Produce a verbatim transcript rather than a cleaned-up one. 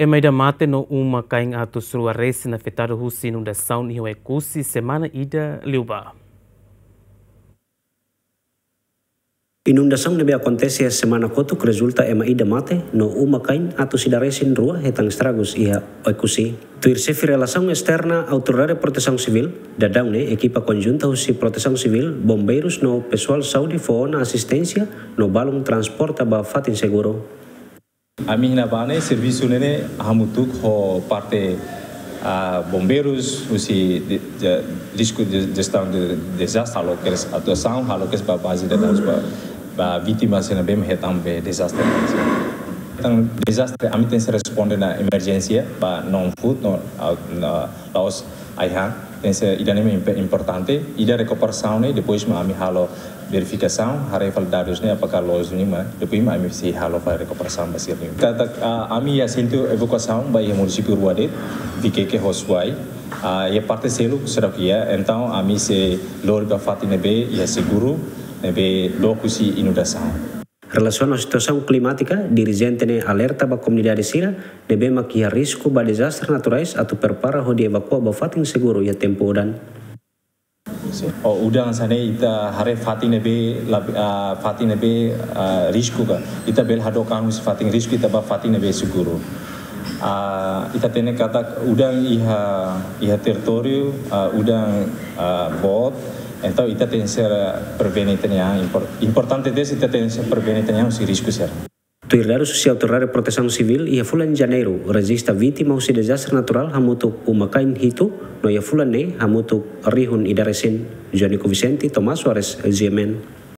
Ema ida mate no uma-kain atus rua resin afetadu husi inundasaun iha Oekusi semana ida liubá. Inundasaun ne'ebé akontese semana kotuk rezulta ema ida mate no uma-kain atus ida resin rua hetan estragus iha Oekusi. Tuir xefe relasaun esterna Autoridade Protesaun Sivíl, daudaun ne'e ekipa konjunta husi Protesaun Sivíl, Bombeirus no pesoál saúde fó ona asisténsia no balun transporta ba fatin seguru. Ami iha ne'ebá ne'e servisu ne'e hamutuk ho parte, ah, bombeirus, husi de, de, risku de, jestaun de dezastre, halo kedas atuasaun, halo kedas ba baze de dadus ba, ba vítima sira ne'ebé hetan be dezastre. Entaun dezastre, ami tenke responde ona emerjénsia ba non-food, no, ah, no, la'ós ai-han, entaun ida-ne'e mak imp-, importante, ida rekuperasaun ne'e, depois mak ami halo verifikasaun, haree fali dadus ne'e apakah loos duni mak, depois mak ami sei halo fali rekuperasaun ba sira-nian. Katak, ah, ami iha sentru evakuasaun ba iha munisípiu rua de'it, Viqueque ho Suai, ah, iha parte seluk seidauk iha, entaun ami sei lori ba fatin ne'ebé iha seguru, ne'ebé dook husi inundasaun. Relasiona ho situasaun klimátika, dirijente ne'e alerta ba komunidade sira ne'ebé mak iha risku ba dezastre naturais atu prepara hodi evakua ba fatin seguru iha tempu udan. Sin. Ho udan hanesan ne'e ita haree fatin ne'ebé lab-, ah, fatin ne'ebé, ah, risku ka. Ita bele hadook an husi fatin risku ita ba fatin ne'ebé seguru. Ah, ita hatene katak udan iha, iha territóriu, ah, udan, ah, boot, entaun ita tenke prevene ita-nia an, impor-, importante de'it ita tenke prevene ita-nia an husi risku sira. Tuir dadus husi Autoridade Protesaun Sivíl, iha fulan Janeiru rejista vítima husi dezastre naturál hamutuk uma-kain hitu, no iha fulan ne'e hamutuk rihun ida resin. Jonico Vicente, Tomás Soares, G M N.